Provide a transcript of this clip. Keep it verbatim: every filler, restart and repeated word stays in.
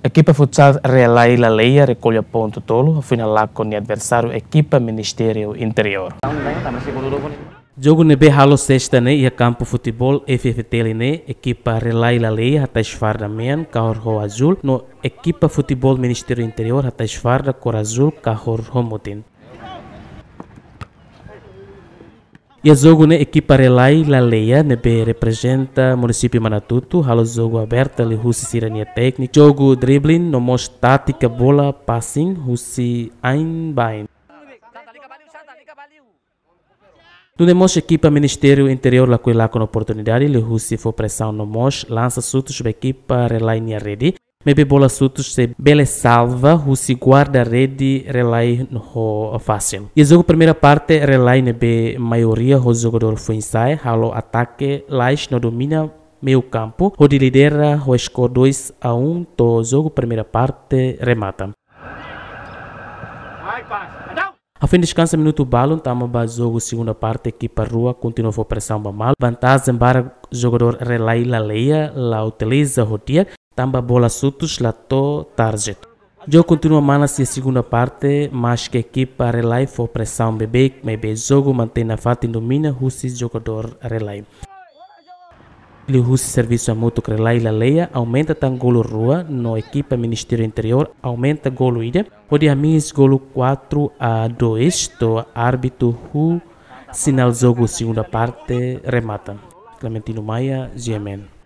Ekipa futsal Relai Laleia rekolla pontu tolu, hafoin halakon nia adversáriu ekipa Ministériu Interiór. Jogu ne'ebé halo sesta ne'e iha kampu futeból F F T L ne'e, ekipa Relai Laleia hatais farda mean kahur ho azúl, no ekipa futeból Ministériu Interiór hatais farda kór azúl kahur ho mutin. Iha jogu ne'e ekipa Relai Laleia ne'ebé reprezenta munisípiu Manatuto halo jogu aberta liuhusi sira-nia téknika, jogu dribbling no mós tátika bola passing husi ain ba ain. Nune'e mós ekipa Ministériu Interiór lakohi lakon oportunidade liuhusi fó presaun no mós lansa xutus ba ekipa Relai nia rede, maibé bola xutus sei bele salva husi guarda-rede Relai ho fasil. Iha jogu primeira parte, Relai ne'ebé maioria ho jogadór foin-sa'e halo atake lais no domina meiu kampu, hodi lidera ho skor dois a um to'o jogu primeira parte remata. Hafoin deskansa minutu balun, tama ba jogu segunda parte, ekipa rua kontinua fó presaun ba malu. Vantajen barak jogadór Relai Laleia la utiliza ho di'ak, tanba bola xutus la to'o target. Jogu kontinua manas iha segunda parte, maske ekipa Relai fó presaun beibeik, maibé jogu mantein nafatin domina husi jogadór Relai. Liuhusi servisu hamutuk Relai Laleia aumenta tan golu rua no ekipa Ministériu Interiór aumenta golu ida, hodi hamihis golu quatro a dois to'o árbitru huu sinál jogu segunda parte remata. Clementino Maia, G M N.